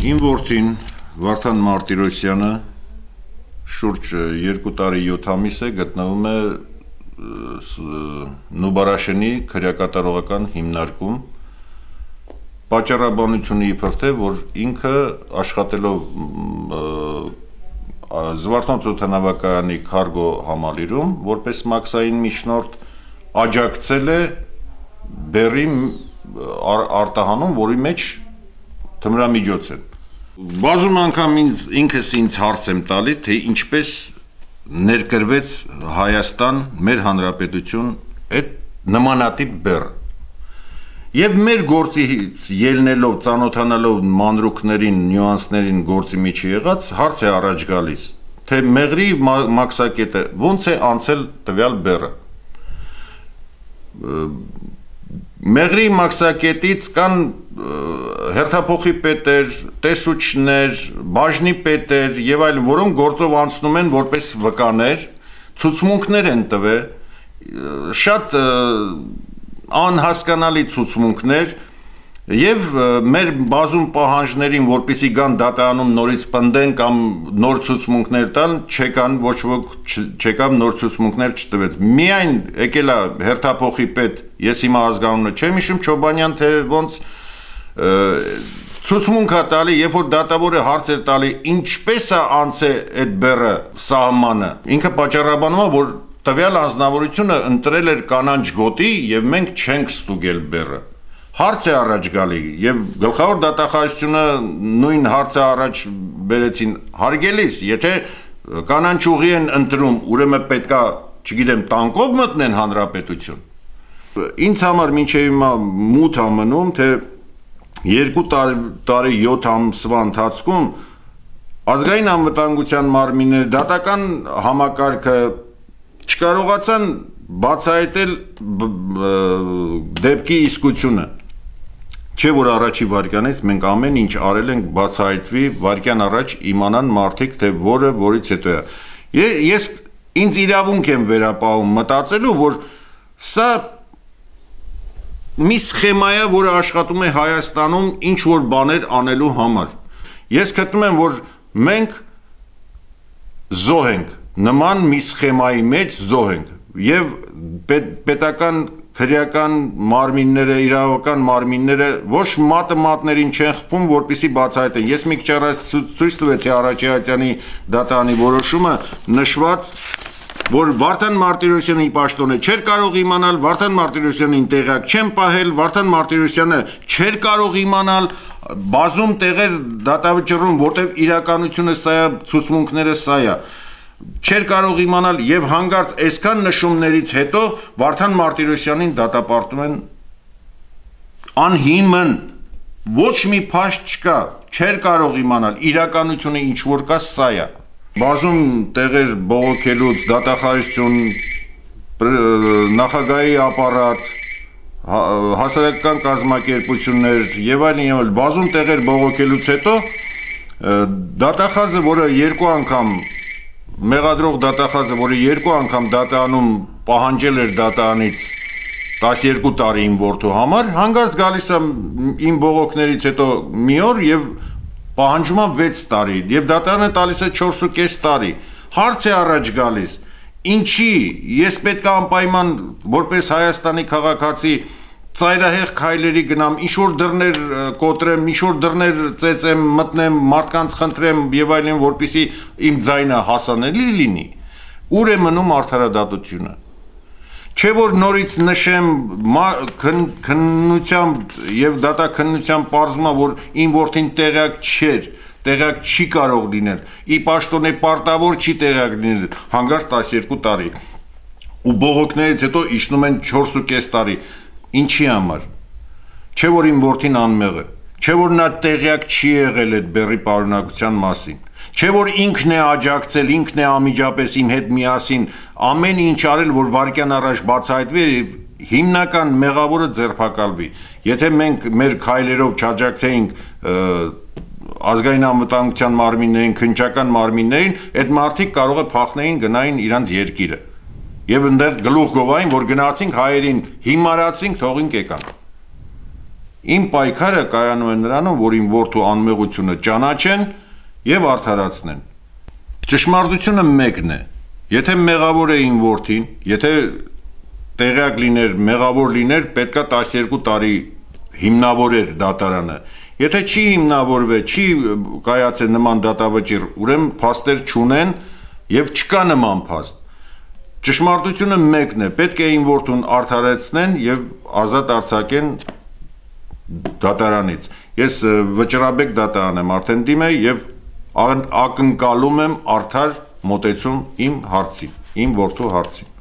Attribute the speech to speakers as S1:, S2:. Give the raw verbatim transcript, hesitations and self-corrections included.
S1: Իմ որդին Վարդան Մարտիրոսյանը շուրջ երկու տարի յոթ ամիս է գտնվում է Նուբարաշենի քրեակատարողական հիմնարկում պատճառաբանությունը իբր թե որ ինքը աշխատելով Զվարթնոց օդանավակայանի քարգո համալիրում որպես մաքսային միջնորդ աջակցել է բեռի արտահանում, որի մեջ թմրամիջոց են։ Բազում անգամ ինքս ինձ հարց եմ տալի, թե ինչպես ներկրվեց Հայաստան, մեր հանրապետություն այդ նմանատիպ բեռը։ Եվ մեր գործից ելնելով, ծանոթանալով մանրուքներին, նյուանսներին գործի միջի եղած, հարց է առաջ գալիս, թե մեղրի մաքսակետը ոնց է անցել տվյալ բեռը։ Մեղրի մաքսակետից կան հերթափոխի պետեր, տեսուչներ, բաժնի պետեր եւ այլն, որոնք գործով անցնում են որպես վկաներ, ցուցմունքներ են տվել, շատ անհասկանալի ցուցմունքներ եւ մեր բազում պահանջներին, որպեսի գան դատարանում նորից պնդեն կամ նոր ցուցմունքներ տան, չեկան, ոչ ոք չեկավ, նոր ցուցմունքներ չտվեց։ Միայն եկել է հերթափոխի պետ, ես հիմա ազգանունը չեմ հիշում, Չոբանյան, թե ոնց ցուցմունք է տալի, երբ որ դատավորը հարց էր տալի, ինչպես է անցե այդ բեռը սահմանը, ինքը պատճառաբանում է, որ տվյալ անձնավորությունը ընտրել էր կանանչ գոտի եւ մենք չենք ստուգել բեռը։ Հարց է առաջ գալի եւ գլխավոր դատախազությունը նույն հարցը առաջ բերեցին հարգելիս, եթե կանանչ ուղի են ընտրում, ուրեմն պետքա, չգիտեմ, տանկով մտնեն հանրապետություն։ Ինձ համար մինչեւ հիմա մութ է մնում, թե երկու տարի յոթ ամսվա ընթացքում ազգային անվտանգության մարմինները դատական համակարգը չկարողացան բացահայտել դեպքի իսկությունը։ Չէ որ առաջի վարքյանից մենք ամեն ինչ արել ենք բացահայտվի վարքյան առաջ իմանան մարդիկ, թե որը որից հետո է։ Ես ինձ իրավունք եմ վերապահում մտածելու, որ սա մի սխեմա է, որը աշխատում է Հայաստանում ինչ որ բաներ անելու համար։ Ես գտնում եմ, որ մենք զոհ ենք, նման մի սխեմայի մեջ զոհ ենք եւ պետական քրեական մարմինները, իրավական մարմինները ոչ մատը մատներին չեն խփում, որպեսզի բացահայտեն։ Ես մի քիչ առաջ ցույց տվեցի Արաչյանի դատարանի որոշումը, նշված, որ Վարդան Մարտիրոսյանի պաշտոնը չէր կարող իմանալ, Վարդան Մարտիրոսյանին տեղյակ չեն պահել, Վարդան Մարտիրոսյանը չէր կարող իմանալ, բազում տեղեր դատավճռում, որտեղ իրականությունը սա է, ցուցմունքները սա է, չէր կարող իմանալ եւ հանգարց այսքան նշումներից հետո Վարդան Մարտիրոսյանին դատապարտում են անհիմն, ոչ մի փաստ չկա, չէր կարող իմանալ, իրականությունը ինչ որ կա, սա է։ Բազում տեղեր բողոքելուց դատախազություն, նախագահի ապարատ, հասարակական կազմակերպություններ եւ այլն, բազում տեղեր բողոքելուց հետո դատախազը, որը երկու անգամ մեղադրող դատախազը, որը երկու անգամ դատարանում պահանջել էր դատարանից տասներկու տարի իմ որդու համար, հանգարց գալիս է իմ բողոքներից հետո մի օր եւ պահանջում է վեց տարի եւ դատարանը տալիս է չորս ու կես տարի։ Հարց է առաջ գալիս, ինչի ես պետք է անպայման որպես Հայաստանի քաղաքացի ծայրահեղ քայլերի գնամ, ինչ-որ դռներ կոտրեմ, ինչ-որ դռներ ծեծեմ, մտնեմ, մարդկանց խնդրեմ եւ այլն, որպեսզի իմ ձայնը հասանելի լինի։ Ուր է մնում արդարադատությունը։ Չէ որ նորից նշեմ քննությամբ եւ դատաքննությամբ պարզվում է, որ իմ որդին տեղյակ չէր, տեղյակ չի կարող լինել, ի պաշտոնե պարտավոր չի տեղյակ լինել, հանգարց տասներկու տարի։ Ու բողոքներից հետո իջնում են չորս ու կես տարի։ Ինչի համար։ Չէ որ իմ որդին անմեղ է, չէ որ նա տեղյակ չի եղել այդ բեռի պարունակության մասին, չէ որ ինքն է աջակցել, ինքն է անմիջապես իմ հետ միասին ամեն ինչ արել, որ վարքյան առաջ բացահայտվի եւ հիմնական մեղավորը ձերբակալվի։ Եթե մենք մեր քայլերով չաջակցեինք ազգային անվտանգության մարմիններին, քննչական մարմիններին, այդ մարդիկ կարող է փախնեին գնային իրանց երկիրը։ Եվ ընդեղ գլուխ գովային, որ գնացինք հայերին հիմարացինք, թողինք եկան։ Իմ պայքարը կայանում է նրանում, որ իմ որդու անմեղությունը ճանաչեն եւ արդարացնեն։ Ճշմարտությունը մեկն է։ Եթե մեղավոր է իմ որդին, եթե տեղյակ լիներ, մեղավոր լիներ, պետքա տասներկու տարի հիմնավորեր դատարանը։ Եթե չի հիմնավորվել, չի կայացել նման դատավճիռ, ուրեմն փաստեր չունեն եւ չկա նման փաստ։ Ճշմարտությունը մեկն է, պետք է իմ որդուն արդարացնեն եւ ազատ արձակեն դատարանից։ Ես վճռաբեկ դատարան եմ արդեն դիմել եւ ակնկալում եմ արդար մոտեցում իմ հարցին, իմ որդու հարցին։